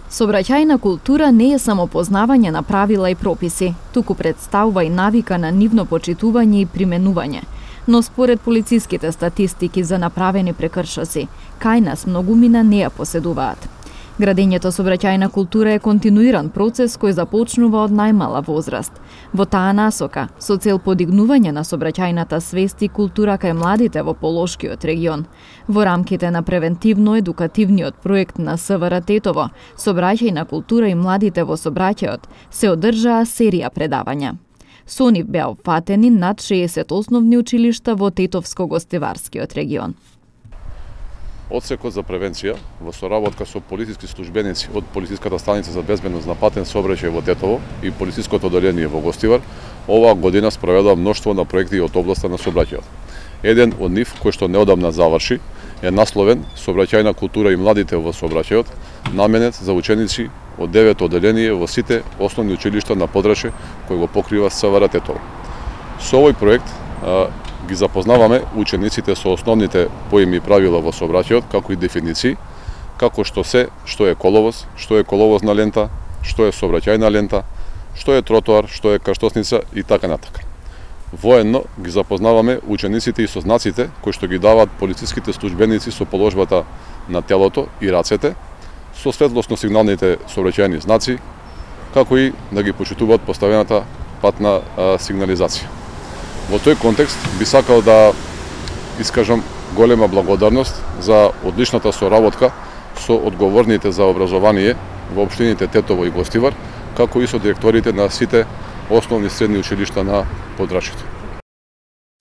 Сообраќајна култура не е само познавање на правила и прописи, туку представува и навика на нивно почитување и применување. Но според полициските статистики за направени прекршоци, кај нас многумина не ја поседуваат. Градењето сообраќајна култура е континуиран процес кој започнува од најмала возраст. Во таа насока, со цел подигнување на сообраќајната свест и култура кај младите во Полошкиот регион, во рамките на превентивно-едукативниот проект на СВР Тетово, сообраќајна култура и младите во сообраќајот, се одржаа серија предавања. Со нив беа опфатени над 60 основни училишта во Тетовско-гостиварскиот регион. Одсекот за превенција во соработка со полициски службеници од полициската станица за безбедност на патен сообраќај во Тетово и полициското одделение во Гостивар, оваа година спроведува мноштво на проекти од областа на сообраќајот. Еден од нив, кој што неодамна заврши, е насловен Сообраќајна култура и младите во сообраќајот, наменет за ученици од 9 одделение во сите основни училишта на подрачје кој го покрива СВР Тетово. Со овој проект ги запознаваме учениците со основните поими и правила во сообраќајот, како и дефиниции, како што е коловоз, што е коловозна лента, што е сообраќајна лента, што е тротоар, што е крстосница и така натака. Воедно ги запознаваме учениците и со знаците кои што ги даваат полициските службеници со положбата на телото и рацете, со светлосно-сигналните сообраќајни знаци, како и да ги почитуваат поставената патна сигнализација. Во тој контекст би сакал да искажам голема благодарност за одличната соработка со одговорните за образование во општините Тетово и Гостивар, како и со директорите на сите основни средни училишта на подрачјето.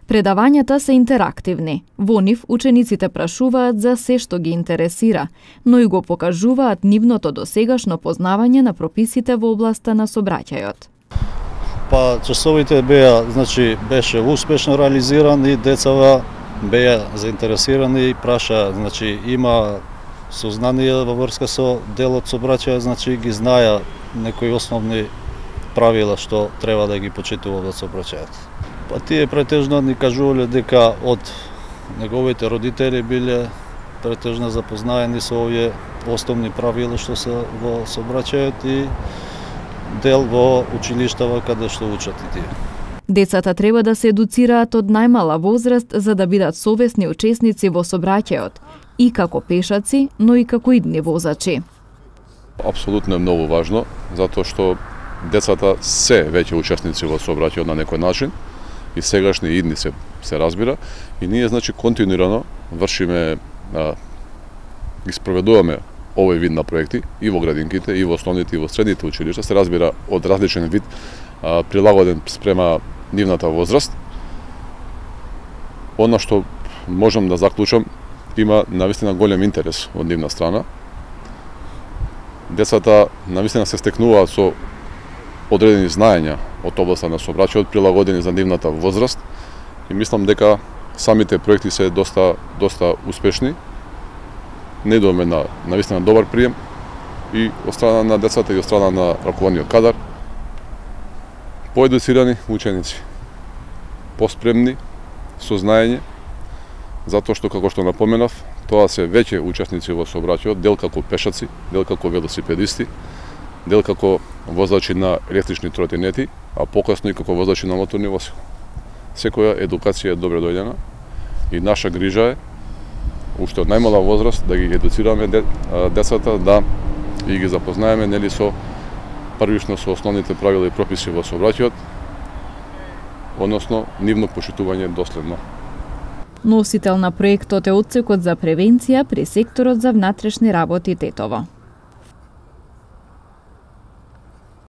Предавањата се интерактивни. Во нив учениците прашуваат за се што ги интересира, но и го покажуваат нивното досегашно познавање на прописите во областа на сообраќајот. Па часовите беше успешно реализиран и децава беа заинтересирани и праша, има сознание во врска со делот сообраќај, ги знаја некои основни правила што треба да ги почитува во сообраќајот. Па тие претежно ни кажувале дека од неговите родители биле претежно запознаени со овие основни правила што се во сообраќајот и дел во училиштава каде што учат и тие. Децата треба да се едуцираат од најмала возраст за да бидат совесни учесници во сообраќајот, и како пешаци, но и како идни возачи. Апсолутно е многу важно, затоа што децата се веќе учесници во сообраќајот на некој начин, и сегашни и идни се разбира, и ние континуирано вршиме, ги спроведуваме овој вид на проекти и во градинките, и во основните, и во средните училишта, се разбира од различен вид, прилагоден спрема нивната возраст. Она што можам да заклучам, има навистина голем интерес од нивна страна. Децата навистина се стекнуваат со одредени знаења од областа на сообраќајот, прилагодени за нивната возраст, и мислам дека самите проекти се доста успешни. Не доме на навистина добар прием и од страна на децата и од страна на раководниот кадар. Поедуцирани ученици, поспремни, со знаење, затоа што, како што напоменав, тоа се веќе учесници во сообраќајот, дел како пешаци, дел како велосипедисти, дел како возачи на електрични тротинети, а покасно и како возачи на моторни возила. Секоја едукација е добре дојдена и наша грижа е уште од најмала возраст да ги едуцираме децата, да и ги запознаеме со првично со основните правила и прописи во сообраќајот, односно нивно почитување доследно. Носител на проектот е Одсекот за превенција при секторот за внатрешни работи Тетово.